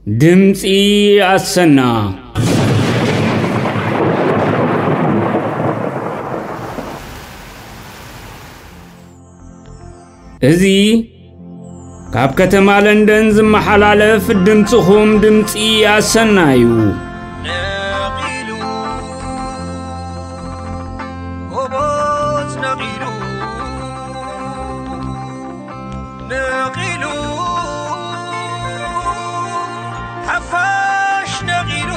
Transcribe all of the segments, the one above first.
ድምፂ ኣሰና። እዚ ካብ ከተማ ለንደን ዝመሓላለፍ ድምፅኹም ድምፂ ኣሰና እዩ። ነቒሉ፣ ጎቦት ነቒሉ፣ ነቒሉ፣ ሓፋሽ ነቒሉ፣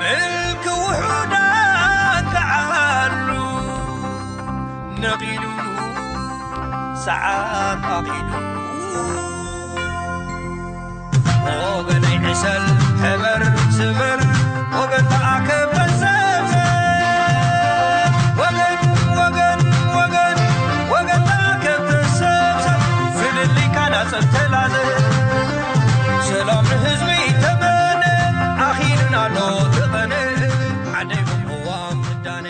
ምልኪ ውሑዳት ተዓሉ፣ ነቒሉ፣ ሰዓት ኣኺሉ። ወገነይ ዕሰል፣ ሕበር፣ ስበር፣ ወገን ተኣከብ፣ ተሰብሰብ። ወገን፣ ወገን፣ ወገን፣ ወገን ተኣከብ፣ ተሰብሰብ። ፍልልይካ ናጸብ ተላዘብ። ሰላም ንህዝቢ ተመነ፣ ኣኺሉና ኣሎ እቲ ቐነ። ዓደይ ቅዋም ምዳነ፣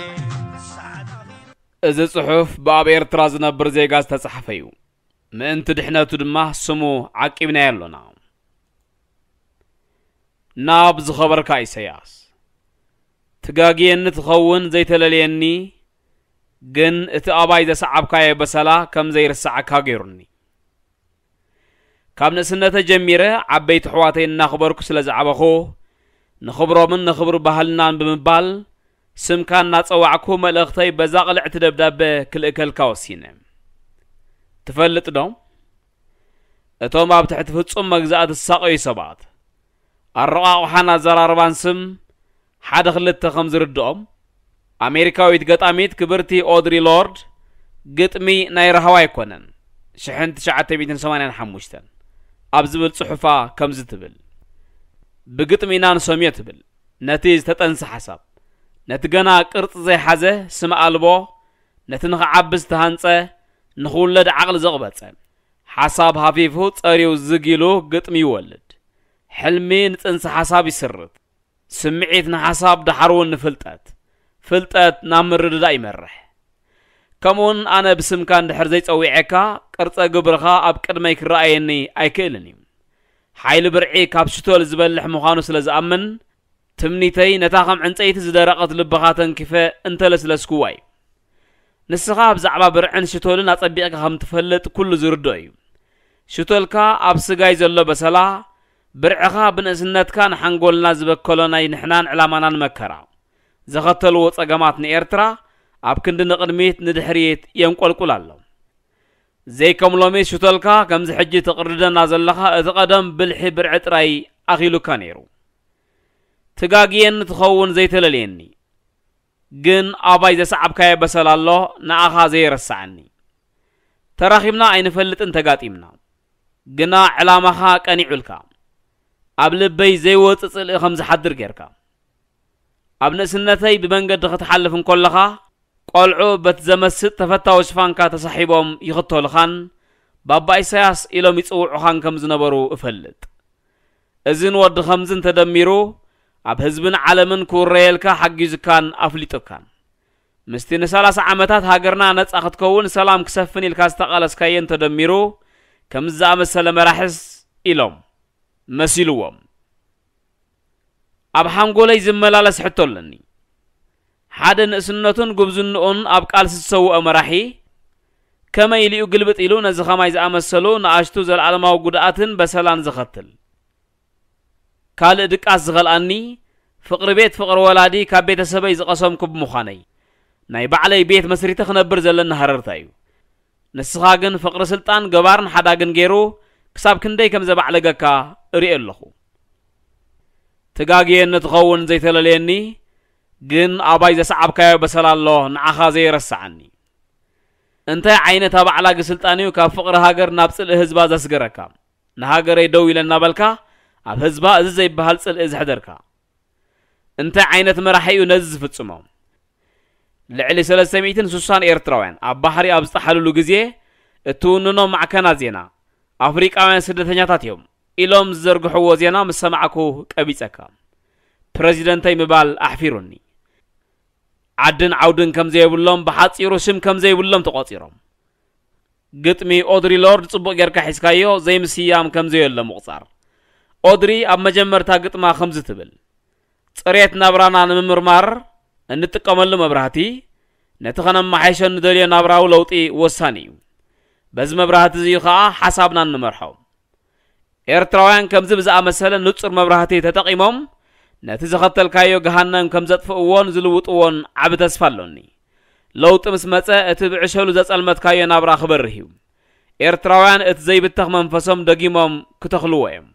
ሰዓት ኣኺሉ። እዚ ጽሑፍ ብኣብ ኤርትራ ዝነብር ዜጋ ዝተጻሕፈ እዩ። ምእንቲ ድሕነቱ ድማ ስሙ ዓቂብናዮ ኣሎና። ናብ ዝኸበርካ ኢሰያስ፣ ትጋግየኒ ትኸውን ዘይተለልየኒ፣ ግን እቲ ኣባይ ዘሰዓብካዮ በሰላ ከም ዘይርስዓካ ገይሩኒ። ካብ ንእስነተ ጀሚረ ዓበይቲ ኣሕዋተይ እናኽበርኩ ስለ ዝዓበኹ፣ ንኽብሮምን ንኽብሪ ባህልናን ብምባል ስምካ እናጸዋዕኩ መልእኽተይ በዛ ቅልዕቲ ደብዳበ ክልእከልካ ወሲነ። ትፈልጥ ዶ? እቶም ኣብ ትሕቲ ፍጹም መግዛእቲ ዝሳቐዩ ሰባት፣ ኣረቋቑሓን ኣዘራርባን ስም ሓደ ክልተ ከም ዝርድኦም፣ ኣሜሪካዊት ገጣሚት ክብርቲ ኦድሪ ሎርድ፣ ግጥሚ ናይ ራህዋ ኣይኮነን፣ ሽሕን ትሽዓተ ሚእትን ሰማንያን ሓሙሽተን፣ ኣብ ዝብል ጽሑፋ ከምዚ ትብል፣ ብግጥሚ ኢና ንሰምዮ ትብል፣ ነቲ ዝተጠንሰ ሓሳብ፣ ነቲ ገና ቅርጺ ዘይሓዘ ስም ኣልቦ፣ ነቲ ንኽዓቢ ዝተሃንጸ፣ ንኽውለድ ዓቕሊ ዘቕበጸ፣ ሓሳብ ሃፊፉ ጸርዩ ዝግ ኢሉ ግጥሚ ይወልድ። ሕልሚ ንጽንሰ ሓሳብ ይስርት። ስምዒት ንሓሳብ፣ ደሓር እውን ንፍልጠት። ፍልጠት ናብ ምርድዳእ ይመርሕ። ከምኡውን ኣነ ብስምካ እንድሕር ዘይጸዊዐካ፣ ቅርጸ ግብርኻ ኣብ ቅድመይ ክረኣየኒ ኣይክእልን እዩ። ሓይሊ ብርዒ ካብ ሽቶል ዝበልሕ ምዃኑ ስለ ዝኣምን፣ ትምኒተይ ነታ ከም ዕንጸይቲ ዝደረቐት ልብኻ ተንኪፈ እንተለስለስኩዋ እዩ። ንስኻ ብዛዕባ ብርዕን ሽቶልን ኣጸቢቕካ ከም ትፈልጥ ኩሉ ዝርድኦ እዩ። ሽቶልካ ኣብ ስጋይ ዘሎ በሰላ፣ ብርዕኻ ብንእስነትካ ንሓንጎልና ዝበከሎ ናይ ንሕናን ዕላማናን መከራ፣ ዘኸተልዎ ጸገማት ንኤርትራ ኣብ ክንዲ ንቕድሚት ንድሕሪት የንቆልቁል ኣሎ። ዘይከም ሎሚ ሽቶልካ ከምዚ ሕጂ ተቕርደና ዘለኻ እቲ ቀደም ብልሒ ብርዒ ጥራይ ኣኺሉካ ነይሩ። ትጋግየኒ ትኸውን ዘይተለልየኒ፣ ግን ኣባይ ዘሰዓብካዮ በሰል ኣሎ ንኣኻ ዘይረስዓኒ። ተራኺብና ኣይንፈልጥን ተጋጢምና፣ ግና ዕላማኻ ቀኒዑልካ፣ ኣብ ልበይ ዘይወጽእ ጽልኢ ከም ዝሓድር ጌርካ። ኣብ ንእስነተይ ብመንገዲ ክትሓልፍ እንከለኻ፣ ቆልዑ በቲ ዘመስጥ ተፈታዊ ሽፋንካ ተሳሒቦም ይኽተሉኻን ባባ ኢሳያስ ኢሎም ይጽውዑኻን ከም ዝነበሩ እፈልጥ። እዝን ወዲ ኸምዝን ተደሚሩ ኣብ ህዝብን ዓለምን ክውረየልካ ሓጊዙካን ኣፍሊጡካን። ምስቲ ንሰላሳ ዓመታት ሃገርና ነጻ ክትከውን ሰላም ክሰፍን ኢልካ ዝተቓለስካዮን ተደሚሩ ከምዚ ዝኣመሰለ መራሕስ ኢሎም መሲልዎም። ኣብ ሓንጎለይ ዝመላለስ ሕቶ ኣለኒ። ሓደ ንእስነቱን ጉብዝንኡን ኣብ ቃልሲ ዝሰውኦ መራሒ ከመይ ኢሉ እዩ ግልብጥ ኢሉ ነዚ ኸማይ ዝኣመሰሉ ንኣሽቱ ዘለዓለማዊ ጉድኣትን በሰላን ዝኸትል? ካልእ ድቃስ ዝኸልኣኒ፣ ፍቕሪ ቤት ፍቕሪ ወላዲ ካብ ቤተሰበይ ዝቐሰምኩ ብምዃነይ፣ ናይ ባዕለይ ቤት መስሪተ ክነብር ዘለኒ ሃረርታ እዩ። ንስኻ ግን ፍቕሪ ስልጣን ገባርን ሓዳግን ገይሩ ክሳብ ክንደይ ከም ዘባዕለገካ እርእዮ ኣለኹ። ትጋግየኒ ትኸውን ዘይተለልየኒ፣ ግን ኣባይ ዘሰዓብካዮ በሰል ኣሎ ንዓኻ ዘይረስዓኒ። እንታይ ዓይነት ኣባዕላጊ ስልጣን እዩ ካብ ፍቕሪ ሃገር ናብ ጽልኢ ህዝባ ዘስገረካ? ንሃገረይ ደው ኢለ እናበልካ ኣብ ህዝባ እዚ ዘይበሃል ጽልኢ ዘሕደርካ? እንታይ ዓይነት መራሒ እዩ ነዚ ዝፍጽሞ? ልዕሊ ሰለስተ ሚእትን ስሳን ኤርትራውያን ኣብ ባሕሪ ኣብ ዝጠሓልሉ ግዜ እትውንኖም ማዕከናት ዜና ኣፍሪቃውያን ስደተኛታት እዮም ኢሎም ዝዘርግሕዎ ዜና ምስ ሰማዕኩ ቀቢጸካ። ፕረዚደንተይ ምባል ኣሕፊሩኒ። ዓድን ዓውድን ከም ዘይብሎም፣ ብሓጺሩ ሽም ከም ዘይብሎም ተቖጺሮም። ግጥሚ ኦድሪ ሎርድ ጽቡቕ ጌርካ ሒዝካዮ፣ ዘይምስያም ከም ዘየሎ ምቑጻር። ኦድሪ ኣብ መጀመርታ ግጥማ ከምዚ ትብል፣ ጽሬት ናብራና ንምምርማር እንጥቀመሉ መብራህቲ፣ ነቲ ከነመሓይሾ ንደልዮ ናብራዊ ለውጢ ወሳኒ እዩ። በዚ መብራህቲ እዚ እዩ ኸኣ ሓሳብና እንመርሖ። ኤርትራውያን ከምዚ ብዝኣመሰለ ንጹር መብራህቲ ተጠቒሞም ነቲ ዘኸተልካዮ ገሃነም ከም ዘጥፍእዎን ዝልውጥዎን ዓቢ ተስፋ ኣሎኒ። ለውጢ ምስ መጸ እቲ ብዕሸሉ ዘጸልመትካዮ ናብራ ክበርህ እዩ። ኤርትራውያን እቲ ዘይብተኽ መንፈሶም ደጊሞም ክተኽልዎ እዮም።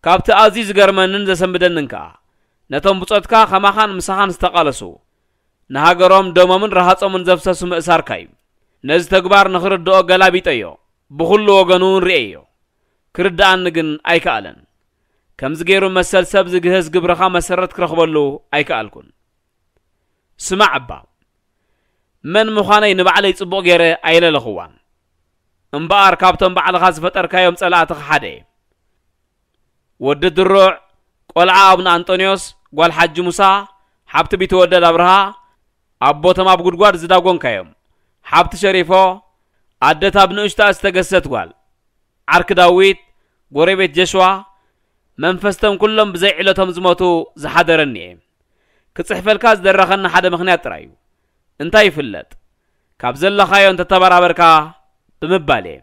ካብቲ ኣዝዩ ዝገርመንን ዘሰንብደንን ከኣ፣ ነቶም ብጾትካ ከማኻን ምሳኻን ዝተቓለሱ፣ ንሃገሮም ደሞምን ረሃጾምን ዘፍሰሱ ምእሳርካ እዩ። ነዚ ተግባር ንኽርድኦ ገላቢጠዮ፣ ብኹሉ ወገኑ እውን ርእየዮ። ክርድኣኒ ግን ኣይከኣለን። ከምዚ ገይሩ መሰል ሰብ ዝግህስ ግብርኻ መሰረት ክረኽበሉ ኣይከኣልኩን። ስማዕ እባ፣ መን ምዃነይ ንባዕለይ ጽቡቕ ገይረ ኣይለለኽዋን። እምበኣር ካብቶም ባዕልኻ ዝፈጠርካዮም ጸላእትኻ ሓደ እየ። ወዲ ድሩዕ፣ ቆልዓ ኣቡነ ኣንጦንዮስ፣ ጓል ሓጂ ሙሳ፣ ሓብቲ ቢተወደድ ኣብርሃ፣ ኣቦቶም ኣብ ጉድጓድ ዝዳጎንካዮም፣ ሓብቲ ሸሪፎ፣ ኣደታ ኣብ ንእሽታ ዝተገሰት ጓል፣ ዓርኪ ዳዊት፣ ጎረቤት ጀሽዋ፣ መንፈስቶም ኩሎም ብዘይ ዕለቶም ዝሞቱ ዝሓደረኒ እየ። ክጽሕፈልካ ዝደረኸኒ ሓደ ምኽንያት ጥራይ እዩ። እንታይ ይፍለጥ? ካብ ዘለኻዮ እንተተበራበርካ ብምባል እየ።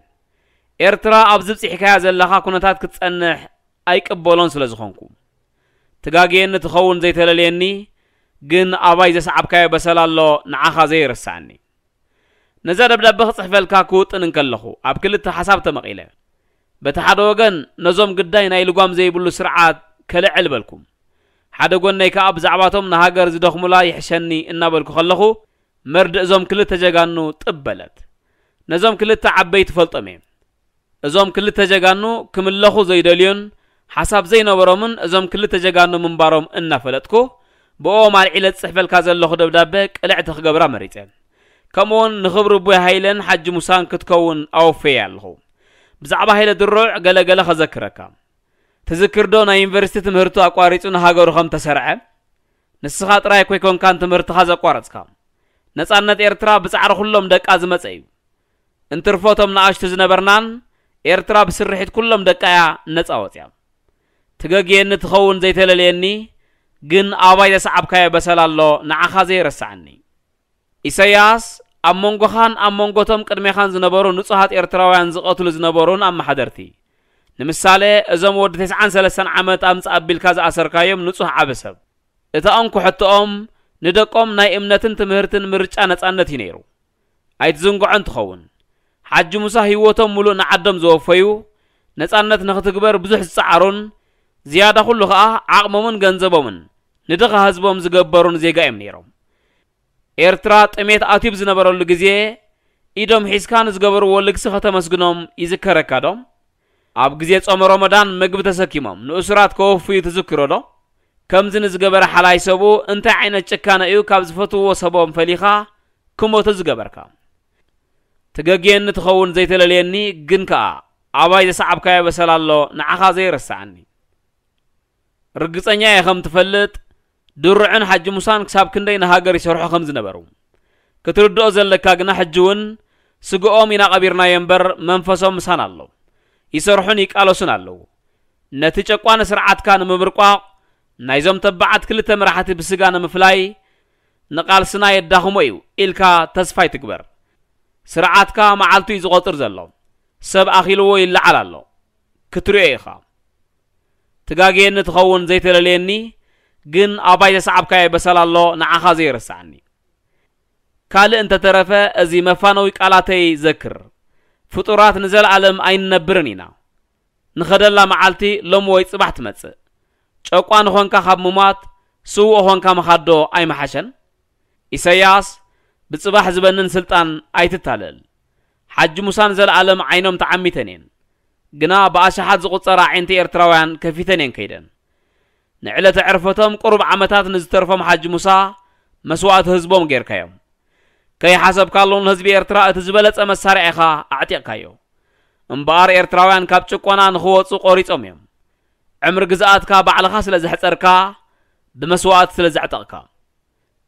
ኤርትራ ኣብዚ ብጺሕካያ ዘለኻ ኩነታት ክትጸንሕ ኣይቅበሎን ስለ ዝኾንኩ። ትጋግየኒ ትኸውን ዘይተለልየኒ፣ ግን ኣባይ ዘስዓብካዮ በሰል ኣሎ ንዓኻ ዘይረስዓኒ። ነዛ ደብዳበ ክጽሕፈልካ ክውጥን እንከለኹ፣ ኣብ ክልተ ሓሳብ ተመቒለ። በቲ ሓደ ወገን፣ ነዞም ግዳይ ናይ ልጓም ዘይብሉ ስርዓት ከልዕል በልኩም። ሓደ ጎነይ ከኣ ብዛዕባቶም ንሃገር ዝደኽሙላ ይሕሸኒ እናበልኩ ከለኹ፣ መርድእ እዞም ክልተ ጀጋኑ ጥብ በለት። ነዞም ክልተ ዓበይ ትፈልጦም እየ። እዞም ክልተ ጀጋኑ ክምለኹ ዘይደልዩን ሓሳብ ዘይነበሮምን እዞም ክልተ ጀጋኑ ምንባሮም እናፈለጥኩ፣ ብኦም ኣልዒለ ዝጽሕፈልካ ዘለኹ ደብዳበ ቅልዕቲ ክገብራ መሪጸ። ከምኡውን ንኽብሪ ኣቦይ ሃይለን ሓጂ ሙሳን ክትከውን ኣወፈየ ኣለኹ። ብዛዕባ ሃይለ ድሩዕ ገለ ገለ ከዘክረካ። ትዝክር ዶ ናይ ዩኒቨርሲቲ ትምህርቱ ኣቋሪጹ ንሃገሩ ከም ተሰርዐ? ንስኻ ጥራይ እኮ ኣይኮንካን ትምህርትኻ ዘቋረጽካ። ነጻነት ኤርትራ ብጻዕሪ ኩሎም ደቃ ዝመጸ እዩ። እንትርፎ እቶም ንኣሽቱ ዝነበርናን ኤርትራ ብስርሒት ኩሎም ደቃ እያ ነጻ ወጽያ። ትገግየኒ ትኸውን ዘይተለልየኒ፣ ግን ኣባይ ዘስዓብካዮ በሰል ኣሎ ንዓኻ ዘይረስዓኒ። ኢሳያስ ኣብ መንጎኻን ኣብ መንጎቶም ቅድሜኻን ዝነበሩ ንጹሃት ኤርትራውያን ዝቐትሉ ዝነበሩን ኣመሓደርቲ፣ ንምሳሌ እዞም ወዲ ተስዓን ሰለስተን ዓመት ኣምጽእ ኣቢልካ ዝኣሰርካዮም ንጹህ ዓቢ ሰብ፣ እታ እንኮ ሕቶኦም ንደቆም ናይ እምነትን ትምህርትን ምርጫ ነጻነት እዩ ነይሩ። ኣይትዝንግዖን ትኸውን። ሓጂ ሙሳ ህይወቶም ሙሉእ ንዓዶም ዘወፈዩ፣ ነጻነት ንኽትግበር ብዙሕ ዝጸዓሩን ዝያዳ ኩሉ ኸኣ ዓቕሞምን ገንዘቦምን ንድኻ ህዝቦም ዝገበሩን ዜጋ እዮም ነይሮም። ኤርትራ ጥሜት ኣትዩ ዝነበረሉ ግዜ ኢዶም ሒዝካ ንዝገበርዎ ልግሲ ከተመስግኖም ይዝከረካ ዶ? ኣብ ግዜ ጾመ ሮመዳን ምግቢ ተሰኪሞም ንእሱራት ከወፍዩ ትዝክሮ ዶ? ከምዚ ንዝገበረ ሓላይ ሰቡ እንታይ ዓይነት ጭካነ እዩ ካብ ዝፈትውዎ ሰቦም ፈሊኻ ክሞቱ ዝገበርካ? ትገግየኒ ትኸውን ዘይተለልየኒ፣ ግን ከኣ ኣባይ ዘሰዓብካዮ በሰል ኣሎ ንዓኻ ዘይረስዓኒ። ርግጸኛ እየ ከም ትፈልጥ፣ ድሩዕን ሓጂ ሙሳን ክሳብ ክንደይ ንሃገር ይሰርሑ ከም ዝነበሩ። ክትርድኦ ዘለካ ግና ሕጂ እውን ስግኦም ኢና ቀቢርናዮ እምበር መንፈሶም ምሳና ኣሎ። ይሰርሑን ይቃለሱን ኣለዉ። ነቲ ጨቋኒ ስርዓትካ ንምብርቋቕ፣ ናይዞም ተባዓት ክልተ መራሕቲ ብስጋ ንምፍላይ፣ ንቓልስና የዳኽሞ እዩ ኢልካ ተስፋ ኣይትግበር። ስርዓትካ መዓልቱ እዩ ዝቖጽር ዘሎ። ሰብ ኣኺልዎ ይለዓል ኣሎ። ክትሪኦ ኢኻ። ትጋግየኒ ትኸውን ዘይተለልየኒ፣ ግን ኣባይ ዘሰዓብካዮ በሰል ኣሎ ንዓኻ ዘይረስዓኒ። ካልእ እንተተረፈ እዚ መፋነዊ ቃላተይ ዘክር። ፍጡራት ንዘለኣለም ኣይንነብርን ኢና። ንኸደላ መዓልቲ ሎሚ ወይ ጽባሕ ትመጽእ። ጨቋኒ ኾንካ ካብ ምሟት ስዉእ ኾንካ ምኻድ ዶ ኣይምሓሸን? ኢሳያስ፣ ብጽባሕ ዝበንን ስልጣን ኣይትታለል። ሓጂ ሙሳን ዘለኣለም ዓይኖም ተዓሚተን እየን። ግና ብኣሽሓት ዝቑጸራ ኣዒንቲ ኤርትራውያን ከፊተን እየን ከይደን። ንዕለተ ዕርፈቶም ቁሩብ ዓመታት ንዝተርፎም ሓጂ ሙሳ መስዋእቲ ህዝቦም ጌርካዮም። ከይሓሰብካሉ ንህዝቢ ኤርትራ እቲ ዝበለጸ መሳርያ ኢኻ ኣዕጢቕካዮ። እምበኣር ኤርትራውያን ካብ ጭቆና ንኽወጹ ቆሪጾም እዮም። ዕምሪ ግዝኣትካ ባዕልኻ ስለ ዘሕጸርካ፣ ብመስዋእቲ ስለ ዘዕጠቕካ።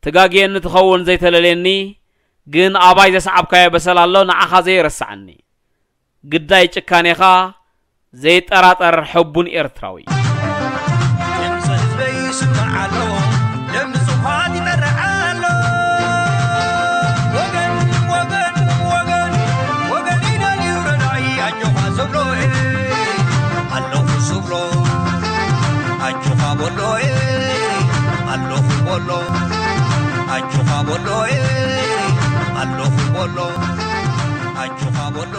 ትጋግየኒ ትኸውን ዘይተለልየኒ፣ ግን ኣባይ ዘስዓብካዮ በሰል ኣሎ፣ ንዓኻ ዘይረስዓኒ። ግዳይ ጭካኔኻ ዘይጠራጠር ሕቡን ኤርትራዊ። ድምፂ ህዝበይ ይስማዕ ኣሎ፣ ደም ንጹሃት ይመርሕ ኣሎ። ወገን፣ ወገን፣ ወገን፣ ወገን ይደልዩ ረዳኢ፣ ኣጆኻ ዝብሎ፣ ኣለኹ ዝብሎ፣ ኣጆኻ በሎ፣ ኣለኹ በሎ፣ ኣጆኻ በሎ፣ ኣለኹ በሎ፣ ኣጆኻ በሎ።